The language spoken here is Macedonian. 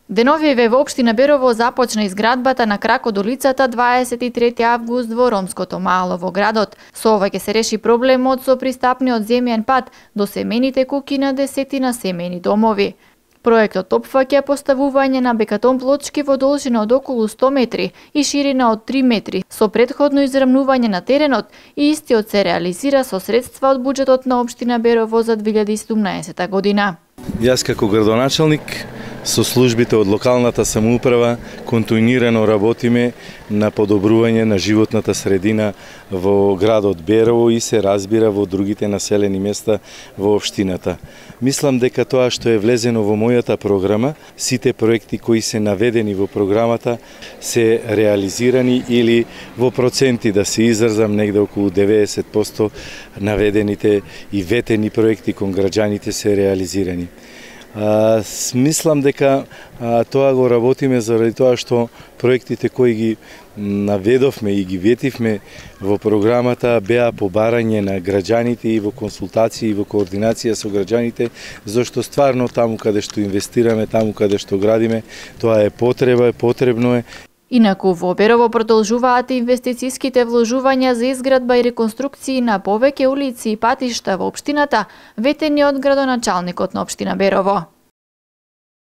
Деновиве во општина Берово започна изградбата на кракот до лицата 23 август во Ромското мало во градот. Со ова ќе се реши проблемот со пристапниот земјен пат до семените куќи на десетина семејни домови. Проектот опфаќа поставување на бекатон плочки во должина од околу 100 метри и ширина од 3 метри со претходно израмнување на теренот и истиот се реализира со средства од буџетот на општина Берово за 2017 година. Јас како градоначалник со службите од локалната самоуправа континуирано работиме на подобрување на животната средина во градот Берово и се разбира во другите населени места во општината. Мислам дека тоа што е влезено во мојата програма, сите проекти кои се наведени во програмата се реализирани или во проценти да се изразам негде околу 90% наведените и ветени проекти кон граѓаните се реализирани. Мислам дека тоа го работиме заради тоа што проектите кои ги наведовме и ги ветивме во програмата беа побарање на граѓаните и во консултации и во координација со граѓаните, зашто стварно таму каде што инвестираме, таму каде што градиме, тоа е потреба, потребно е. Инаку во Берово продолжуваат инвестициските вложувања за изградба и реконструкции на повеќе улици и патишта во општината, ветени од градоначалникот на општина Берово.